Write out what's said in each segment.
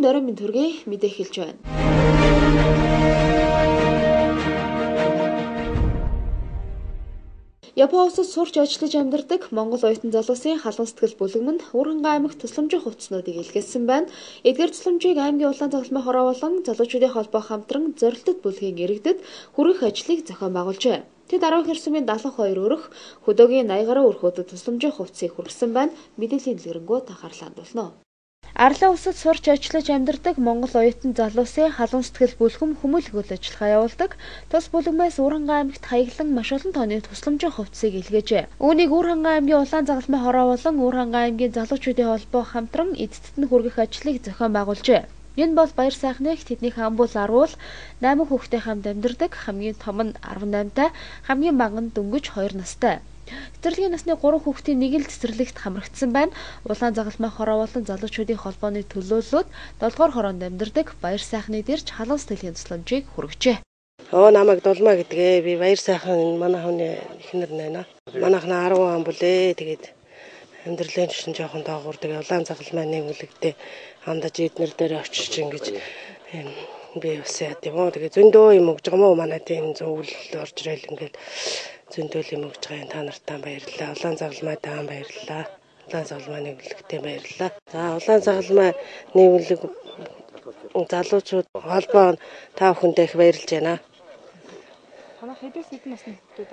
Норин минь төргий мэдээ хэлж байна. Япон улсад сурч ажиллаж амьдардаг Монгол оюутан залуусын халуун сэтгэл бүлэм нь Уурхангай аймагт тусламжийн хувцснуудыг илгээсэн байна. Эдгээр тусламжийг аймгийн улаан загалмай хороо болон залуучуудын холбоо хамтран зорилттой бүлгийн иргэдэд хүргэх ажлыг зохион байгуулжээ. Тэд 12 сумын 72 өрх хөдөөгийн 80 гаруй өрхүүдэд тусламжийн хувцсыг хүргэсэн байна. Мэдээллийн дэлгэрэнгүй анхаарлаа хандуулна. Арлын улсад сурч ажиллаж амьдардаг Монгол оюутан залуусын халуун сэтгэл бүлхэм хүмүүлэг үйл ажиллагаа явуулдаг. Тус бүлэгмээс Уурхангай аймагт хаяглан маш олон тооны тусламжийн хувцсыг илгээжээ. Үүнийг Уурхангай аймгийн улаан загалмай хороо болон Уурхангай аймгийн залуучуудын холбоо хамтран эцэст нь хүргэх ажлыг зохион байгуулжээ. Энэ бол баяр сайхныг тэдний хамбул 10 8 хүүхэдтэй хамт амьдардаг. Хамгийн том нь 18-тай, хамгийн бага нь дөнгөж 2 настай. Цэцэрлэгийн насны 3 хүүхдийн нэг л цэцэрлэгт хамрагдсан байна. Улаан загалмай хороо болон залуучуудын холбооны төлөөллүүд 7 дугаар хороонд амьдардаг баяр сайхны дэрж халуун сэтгэлийн тусламжийг хүргэжээ. Намайг Дулмаа гэдгээ. Би баяр сайхан манай хүний эхнэр байна. Манайхна 10 он бүлээ. Тэгээд амьдралын чинь жоохон доогуур тэгээ улаан загалмай нэгүүлэгдээ хандаж эднэр дээр очиж ингэж би бас яа тийм үү. Тэгээ зөндөө юм өгж байгаа мó манай тийм зөвл орж ирэл ингээд зөндөл юм өгж байгаа та нартаа баярлалаа. Улаан загалмай таан баярлалаа. Улаан загалмай нэгүүлэгтээ баярлалаа. За улаан загалмай нэгүүлэг залуучууд холбоо та бүхэндээ их баярлж байна. Танаа хэдээс хэдэн насны хүүхдүүд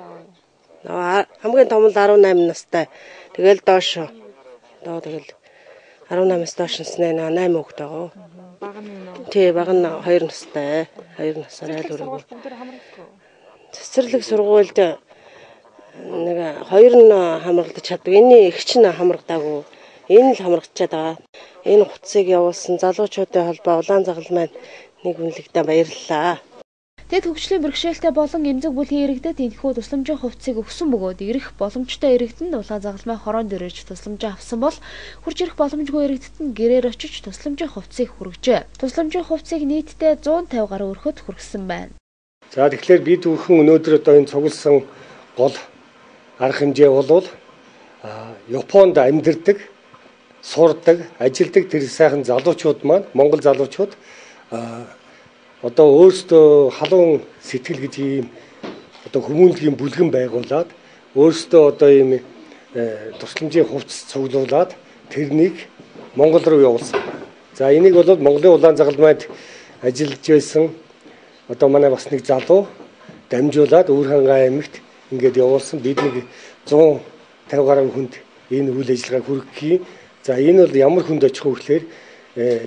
аваа? Хамгийн том нь 18 настай. Тэгэл доош. Тэгэл 18-аас доош насны 8 хүүхэд байгаа. Бага нь юу? Тий, бага нь 2 настай. 2 насаар айл өрөөгөө. Цэцэрлэг сургуульд нэг 2 нь хамрагдаж чаддаг. Энэний эгч нь хамрагдаагүй. Энэ л хамрагдчихад байгаа. Энэ хувцсыг явуулсан залуучуудын холбоо улаан загалмай нэгүүлэгтээ баярлалаа. Тэд хөгжлийн бэрхшээлтэй болон эмзэг бүлгийн иргэдэд энэхүү тусламжийн хувцсыг өгсөн бөгөөд ирэх боломжтой иргэдэнд улаан загалмай хороонд ирж тусламж авсан бол хурж ирэх боломжгүй иргэдэд нь гэрээр очиж тусламжийн хувцсыг хүргэжээ. Тусламжийн хувцсыг нийтдээ 150 гаруй өрхөд хүргэсэн байна. За тэгэхээр бид бүхэн өнөөдөр одоо энэ цугласан гол арга хэмжээ бол Японд амьдардаг, сурдаг, ажилдаг тэр сайхан залуучууд маань Монгол залуучууд одоо өөрсдөө халуун сэтгэл гэж ийм одоо хүмүүнлэгийн бүлгэн байгуулад өөрсдөө одоо ийм тусламжийн хувцас цуглуулад тэрнийг Монгол руу явуулсан. За энийг бол Монголын улаан загалмайд ажиллаж байсан одоо манай бас нэг залуу дамжуулаад Уурхангай аймагт ингээд явуулсан. Бид нэг 150 гаруй хүнд энэ үйл ажиллагааг хүргэхий. За энэ бол ямар хүнд очих вэ гэхээр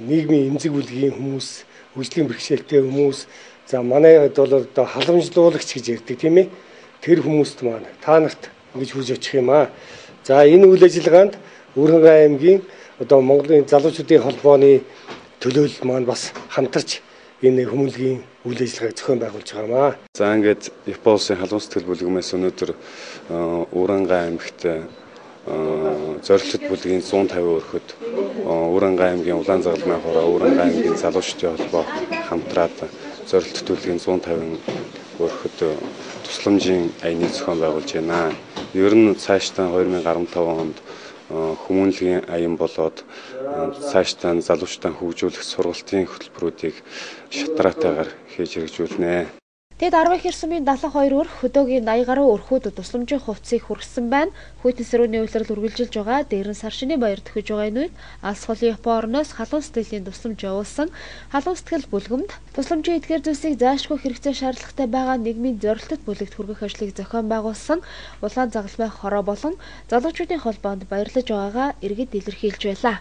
нийгмийн эмзэг бүлгийн хүмүүс, хөгжлийн бэрхшээлтэй хүмүүс, за манайд бол одоо халамжлуулагч гэж ярьдаг тийм ээ. Тэр хүмүүст маань та нарт ингэж хүрж очих юм аа. За энэ үйл ажиллагаанд Уурхангай аймгийн одоо Монголын залуучуудын холбооны төлөөлөл маань бас хамтарч энэ хүмүүнлэгийн үйл ажиллагааг зохион байгуулж байгаа маа. За ингээд Япон улсын халуун сэтгэл бүлгэмээс өнөөдөр Уурхангай аймагт зорилттой бүлгийн 150 өрхөд Уурхангай аймгийн улаан загалмай хороо, Уурхангай аймгийн залуучуудын холбоо хамтраад зорилттой бүлгийн 150 өрхөд тусламжийн аяныг зохион байгуулж байна. Ер нь цаашдаа 2015 онд хүмүүнлэгийн аян болоод цаашдаа залуучуудаа хөгжүүлэх сургалтын хөтөлбөрүүдийг шатраатайгаар хийж хэрэгжүүлнэ. Тэд 12 сумын 72 өрх хөдөөгийн 80 гаруй өрхүүдэд тусламжийн хувцсыг хүргэсэн байна. Хүйтэн сэрүүний үйлрэл үргэлжилж байгаа. Дээр нь сар шинийн баяр төхөж байгаа энэ үед алс холын Япон орноос халуун сэтгэлийн тусламж явуулсан халуун сэтгэл бүлгэмд тусламжийн эдгээр зүйлсийг заашгүй хэрэгцээ шаардлагатай байгаа нийгмийн зорилттой бүлэгт хүргэх ажлыг зохион байгуулсан улаан загалмай хороо болон залуучуудын холбоонд баярлаж байгаагаа иргэд илэрхийлж байлаа.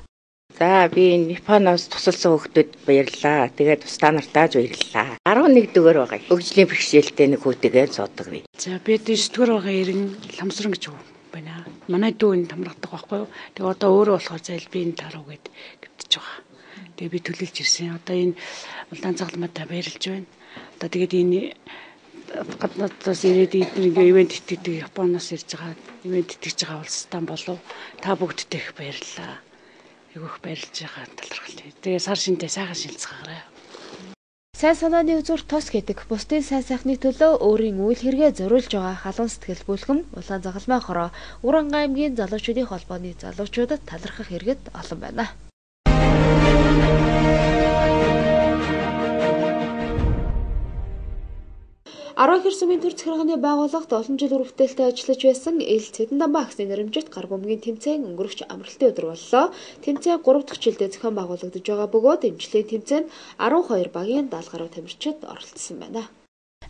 За би энэ Японоос тусалсан хүүхдүүд баярлалаа. Тэгээд тусдаа нартаа баярлалаа. 11 дөгөр байгаа. Хөгжлийн бэрхшээлтэй нэг хүүтэйгээ цоодог би. За би 9 дөгөр байгаа ирэн ламсран гэж байна. Манай дүү энэ тамрагдаг байхгүй юу? Тэгээ одоо өөрөө болохоор зайл би энэ таруу гэд гівтэж байгаа. Тэгээ би төлөөлж ирсэн. Одоо энэ улаан загалмайтай баярлж байна. Одоо тэгээд энэ гаднаадаас ирээд эдгээр ивент итгэдэг Японоос ирж байгаа ивент итгэж байгаа улстай болов та бүгдтэй их баярлалаа. Игөх баярлж байгаа талархал. Тэгээ сар шинтэй сайхан шилцгаарай. Сайн санааны үзүүр тос гэдэг бусдын сайн сайхны төлөө өөрийн үйл хэрэгээ зориулж байгаа халуун сэтгэл бүлхэм улаан загалмай хороо Уурхангай аймгийн залуучуудын холбооны залуучуудад талархах иргэд олон байна. Арван хэр сумын төр захиргааны байгууллагт олон жил үргэлжлэлтэй ажиллаж байсан Эл Цэдэнданба агсны нэрэмжит гар бөмбөгийн тэмцээн өнгөрөгч амралтын өдөр боллоо. Тэмцээн 3 дахь жилдээ зохион байгуулагдаж байгаа бөгөөд эмчлийн тэмцээнд 12 багийн 70 гаруй тамирчид оролцсон байна.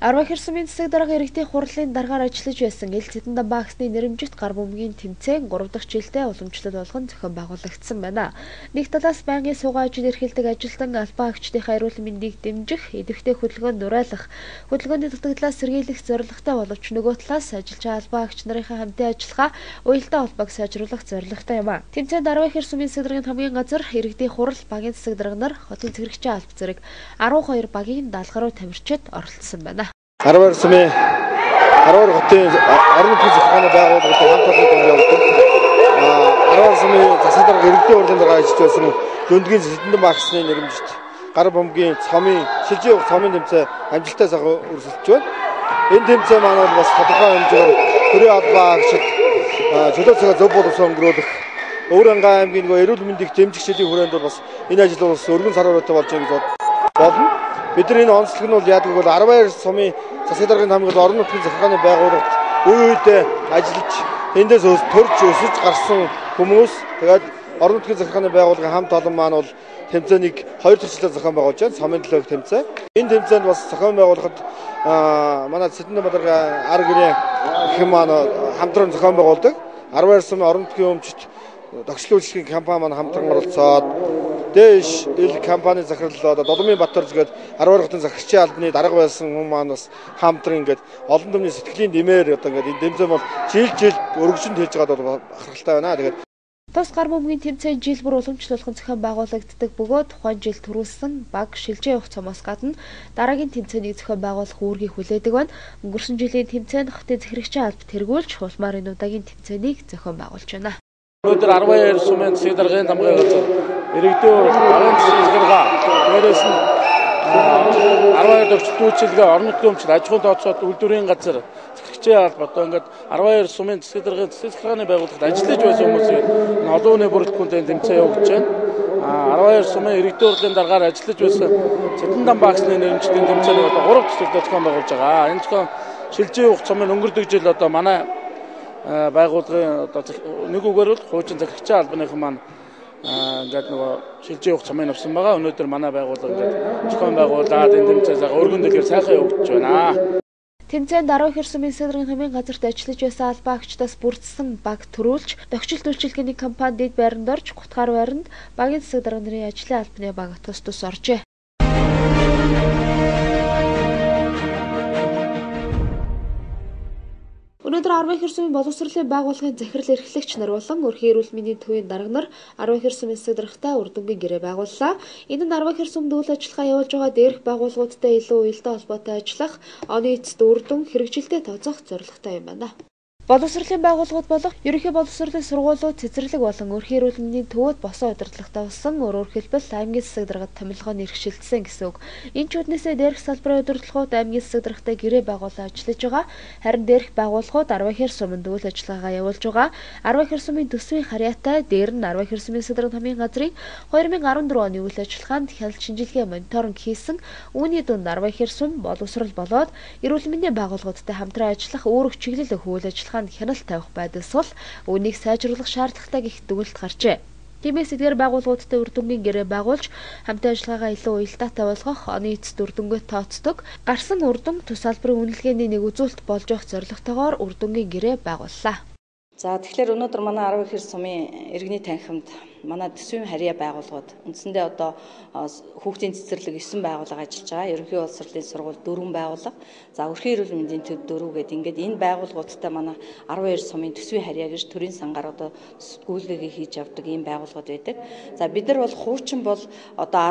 Арван хэр сумын засаг дарга иргэдийн хурлын даргаар ажиллаж байсан Эл Цэдэнданба агсны нэрэмжит гар бөмбөгийн тэмцээн 3 дахь жилдээ уламжлал болгон зохион байгуулагдсан байна. Нэг талаас байнгын суугаа ажил эрхэлдэг ажилтан албан агчдын эрүүл мэндийг дэмжих, идэвхтэй хөдөлгөөнд дуурайлах, хөдөлгөөний дутагдлаас сэргийлэх зорилготой боловч нөгөө талаас ажиллаж албан агч нарын хамтын ажиллагаа уялдаа холбоог сайжруулах зорилготой юм а. Тэмцээнд Арван хэр сумын засаг даргын хамгийн газар иргэдийн хурал багийн засаг дарга нар хотын цэгцэрэгчийн алба зэрэг 12 багийн 70 гаруй тамирчид оролцсон байна. Арван сумын 12 хотын орон нутгийн захиргааны байгууллагын хамт олон дүнгийн явуулдаг. Арван сумын засаг дарга иргэдийн хурлын дарга ажиллаж байсан Дүндгийн Цэдэнданба агсны нэрэмжит гар бөмбөгийн цомын шилжиж явах цомын тэмцээн амжилттай сайхан үргэлжилж байна. Энэ тэмцээн маань бол бас тодорхой хэмжээгээр төрийн албан агчид чөлөө цагаа зөв боловсон өнгөрүүлэх Өвөрангай аймгийн эрүүл мэндийг дэмжигчдийн хүрээнд бол бас энэ ажил бол өргөн сарвараатай болж байгаа гэж болно. Бид нар энэ онцлог нь бол яадаг бол 12 сумын засаг даргын хамгаалалт орон нутгийн захиргааны байгууллагт үе үедээ ажиллаж эндээс төрж өсөж гарсан хүмүүс тэгээд орон нутгийн захиргааны байгууллагын хамт олон маань бол тэмцээнийг 2 дахь жилээр зохион байгуулж байна. Цомын төлөөх тэмцээн. Энэ тэмцээнд бас зохион байгуулахад манай Цэдэнданба дарга ар гэрээ гэх маань хамтран зохион байгуулдаг. 12 сумын орон нутгийн өмчт тогтчлын үйлчлэгийн компани маань хамтран оролцоод Дэш ил компани захирлаа Доломын Батөрж гээд 12 хотын захирчийн албаны дарга байсан хүмүүс маань бас хамтран ингээд олон түмний сэтгэлийн дэмээр одоо ингээд энэ тэмцээн бол жил өргөжөнд хийж байгаад бол бахархалтай байна. Тэгээд тус гар бөмбөгийн тэмцээн жил бүр уламжлуулахын зохион байгуулагддаг бөгөөд тухайн жил төрүүлсэн баг шилжиж явах цомоос гадна дараагийн тэмцээнийг зохион байгуулах үүргийг хүлээдэг байна. Өнгөрсөн жилийн тэмцээнд хотын захирагчийн албад тэргүүлж улмаар энэ удаагийн тэмцээнийг зохион байгуулж байна. Өнөөдөр 12 сумын засаг даргын хамгаалалт газар иргэдийн орон засгийн захиргаа дээрээс нь 12 төвчлөлгээ орон нутгийн өмчт аж ахуйн тооцоод үйлдвэрийн газар захирагчийн алба одоо ингээд 12 сумын засаг даргын засаг захиргааны байгууллагад ажиллаж байсан хүмүүсийг олон хүний бүрэлдэхүүнтэй тэмцээн явуулж байна. 12 сумын иргэдийн хурлын даргаар ажиллаж байсан Цэдэнданба агсны нэрэмжтийн тэмцээнийг одоо 3 дахь жилдээ зохион байгуулж байгаа. Энэ зохион шилжиж явах цомын өнгөрдөг жил одоо манай байгууллагын одоо нэг үгээр бол хуучин захирагчийн албаныхан маань ингээд нөгөө шилжиж явах цомын авсан байгаа. Өнөөдөр манай байгууллага ингээд зохион байгуулаад энэ тэмцээнээ өргөн дэгээр сайхан явуулж байна. Тэмцээнд Арван хэр сумын засаг даргын хамгийн газарт ажиллаж байсан албан агчдаас бүрдсэн баг төрүүлж, тогтчлт үйлчилгээний компани дэд байранд орж, гутгаар байранд багийн засаг дарга нарын ажлын албаны баг тус оржээ. Өнөөдөр Арван хэр сумын боловсролын байгууллагын захирал эрхлэгч нар болон өрхийн эрүүл мэндийн төвийн дарга нар Арван хэр сумын засаг даргатай үр дүнгийн гэрээ байгууллаа. Энэ нь Арван хэр сумд үйл ажиллагаа явуулж байгаа дээрх байгууллагуудтай илүү уялдаа холбоотой ажиллах, оны эцэст үр дүн хэрэгжилтэд тооцоох зорилготой юм байна. Боловсролын байгууллагууд болох ерөнхий боловсролын сургуулиуд цэцэрлэг болон өрхийн эрүүл мэндийн төвөд босон удирдлагатай болсон өөрөөр хэлбэл аймгийн засаг даргад томилгооны иргэшилжсэн гэсэн үг. Энэ ч үднээсээ дээрх салбарын удирдлагууд аймгийн засаг даргатай гэрээ байгуулан ажиллаж байгаа. Харин дээрх байгууллагууд Арван хэр суманд үйл ажиллагаагаа явуулж байгаа. Арван хэр сумын төсвийн харьяатай дээр нь Арван хэр сумын засаг даргын хамгийн газрын 2014 оны үйл ажиллагаанд хяналт шинжилгээ мониторинг хийсэн. Үүний дунд Арван хэр сум боловсрол болоод эрүүл мэндийн байгууллагуудтай хамтран ажиллах өөрөг чиглэл өгөх үйл ажиллагаанд хяналт тавих байдас бол үүнийг сайжруулах шаардлагатай гэх дүгнэлт гарчээ. Тиймээс эдгээр байгууллагуудтай үр дүнгийн гэрээ байгуулж хамтын ажиллагаагаа илүү уялдаатай болгох, оны эцэст үр дүнгээ тооцдог, гарсан үр дүн тус салбарын үнэлгээний нэг үзүүлэлт болж явах зорилготойгоор үр дүнгийн гэрээ байгууллаа. За тэгэхээр өнөөдөр манай Арван хэр сумын иргэний танхимд манай төсвийн харьяа байгууллагууд үндсэндээ одоо хүүхдийн цэцэрлэг 9 байгууллага ажиллаж байгаа. Ерөнхий боловсролын сургууль 4 байгууллага. За өрхийн эрүүл мэндийн төв 4 гэдэг ингээд энэ байгууллагуудтай манай 12 сумын төсвийн харьяа гэж төрийн сангаар одоо гүйлгээгээ хийж явдаг ийм байгууллагууд байдаг. За бид нар бол хуучин бол одоо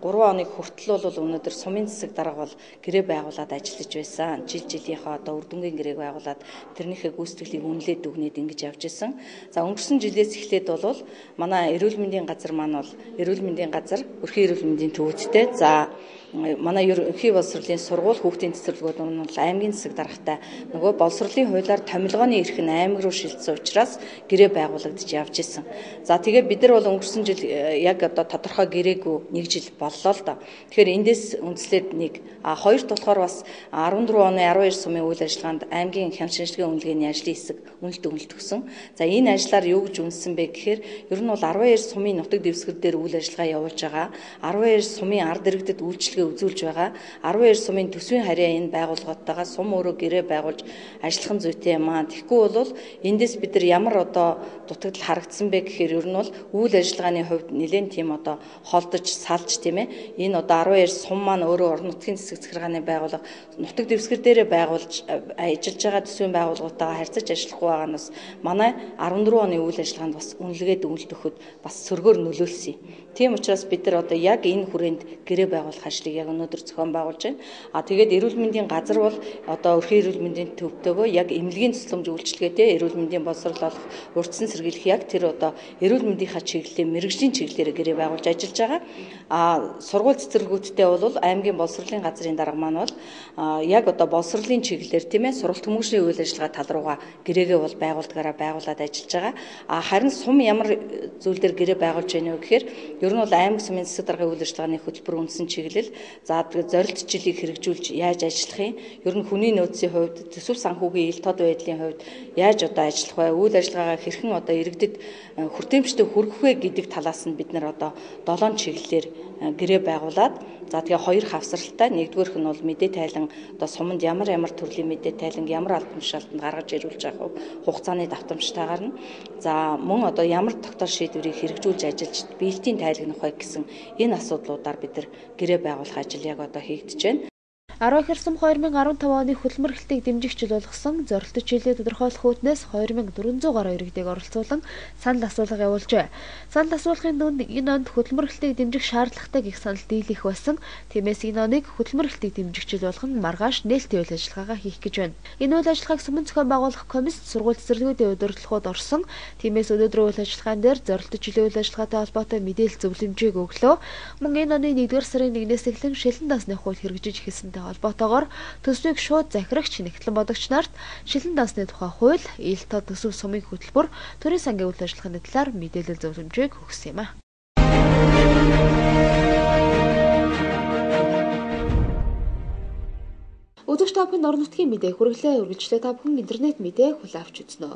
13 оны хүртэл бол өнөөдөр сумын засаг дарга бол гэрээ байгуулад ажиллаж байсан. Жилийнхаа одоо үр дүнгийн гэрээг байгуулад тэрнийхээ гүйцэтгэлийг үнэлээд дүгнээд ингэж явж исэн. За өнгөрсөн жилээс эхлээд бол манай эрүүл мэндийн газар маань бол эрүүл мэндийн газар өрхийн эрүүл мэндийн төвөдтэй за манай ерөнхий боловсролын сургууль хүүхдийн цэцэрлэгүүд нь бол аймгийн засаг даргатай нөгөө боловсролын хуулиар томилгооны эрх нь аймаг руу шилжсэн учраас гэрээ байгуулагдаж явж исэн. За тэгээ бид нар бол өнгөрсөн жил яг одоо тодорхой гэрээгүй 1 жил боллоо л доо. Тэгэхээр эндээс үндслээд нэг хоёрт болохоор бас 14 оны 12 сумын үйл ажиллагаанд аймгийн хяналт шинжилгээ үнэлгээний ажлын хэсэг үнэлт өгсөн. За энэ ажлаар юу гэж үнэлсэн бэ гэхээр ер нь бол 12 сумын нутаг дэвсгэр дээр үйл ажиллагаа явуулж байгаа. 12 сумын ард иргэдэд үйлчлэгээ үзүүлж байгаа. 12 сумын төсвийн харьяа энэ байгууллагатайгаа сум өөрөө гэрээ байгуулж ажиллах зүйтэй юм аа. Тэгэхгүй бол эндээс бид нар ямар одоо дутагдал харагдсан бэ гэхээр ер нь бол үйл ажиллагааны хувьд нэлээд тийм одоо холдож салж тийм ээ. Энэ одоо 12 сум маань өөрөө орон нутгийн засаг захиргааны байгууллага нутаг дэвсгэр дээрээ байгуулж ажиллаж байгаа төсвийн байгууллагатайгаа харьцаж ажиллах байгаа нь бас манай 14 оны үйл ажиллагаанд бас үнэлгээд үнэлт өгөхөд бас сөргөөр нөлөөлсөн. Тийм учраас бид нар одоо яг энэ хүрээнд гэрээ байгуулах ажлыг яг өнөөдөр зохион байгуулж байна. Тэгээд эрүүл мэндийн газар бол одоо өрхийн эрүүл мэндийн төвтэйгөө яг эмнэлгийн тусламж үйлчилгээтэй эрүүл мэндийн боловсрол олох, урьдчилан сэргийлэх яг тэр одоо эрүүл мэндийнхаа чиглэлээр мэрэгжлийн чиглэлээр гэрээ байгуулж ажиллаж байгаа. Сургууль цэцэрлэгүүдтэй бол аймгийн боловсролын газрын дарга маань бол яг одоо боловсролын чиглэлээр тийм ээ сургалт хүмүүшний үйл ажиллагаа тал руугаа гэрээгээ бол байгуулад ажиллаж байгаа. Харин сум ямар зүйл дээр гэрээ байгуулж байна вэ гэхээр ер нь бол аймаг сумын засаг даргын үйл ажиллагааны хөтөлбөр үндсэн чиглэл за зорилт жилийг хэрэгжүүлж яаж ажиллах юм? Ер нь хүний нөөцийн хувьд төсөв санхүүгийн ил тод байдлын хувьд яаж одоо ажиллах вэ? Үйл ажиллагаагаа хэрхэн одоо иргэдэд хүртээмжтэй хүргэх вэ гэдэг талаас нь бид нар одоо 7 чиглэлээр гэрээ байгуулад за тэгээ 2 хавсралтай нэгдүгээрх нь бол мэдээ тайлан одоо суманд ямар төрлийн мэдээ тайлан ямар албан тушаалтанд гаргаж ирүүлж байгаа хугацааны давтамжтайгаар нь за мөн одоо ямар тогтоол шийдвэрийг хэрэгжүүлж ажиллаж биелтийн тайлагнах вэ гэсэн энэ асуудлуудаар бид нар гэрээ байгуулах ажил яг одоо хийгдэж байна. 12 сум 2015 оны хөдөлмөр эрхлэлтийг дэмжих жил болгосон зорилттой жилээ тодорхойлох үүднээс 2400 гаруй иргэдийг оролцуулан санал асуулга явуулжээ. Санал асуулгын дүнд энэ онд хөдөлмөр эрхлэлтийг дэмжих шаардлагатай гэх санал дийлэх байсан. Тиймээс энэ оныг хөдөлмөр эрхлэлтийг дэмжих жил болгон маргааш нээлттэй үйл ажиллагаагаа хийх гэж байна. Энэ үйл ажиллагааг сумын зохион байгуулах комисс сургууль цэцэрлэгүүдийн удирдлагууд орсон. Тиймээс өнөөдрийн үйл ажиллагаан дээр зорилттой жилийн үйл ажиллагаатай холбоотой мэдээлэл зөвлөмжийг өглөө. Мөн энэ оны 1-р сарын 1-ээс эхлэн шилэн дансны хууль хэрэгжиж эхэлсэнтэй холбоотойгоор төсвийг шууд захирагч нэгтлэн бодогч нарт шилэн дансны тухай хууль, ил тод төсөв сумын хөтөлбөр, төрийн сангийн үйл ажиллагааны талаар мэдээлэл зөвлөмжийг өгсөн юм а. Үзэгч та бүхэнд орон нутгийн мэдээ хүргэлээ. Үргэлжлээ та бүхэн интернет мэдээ хүлээн авч үзнэ.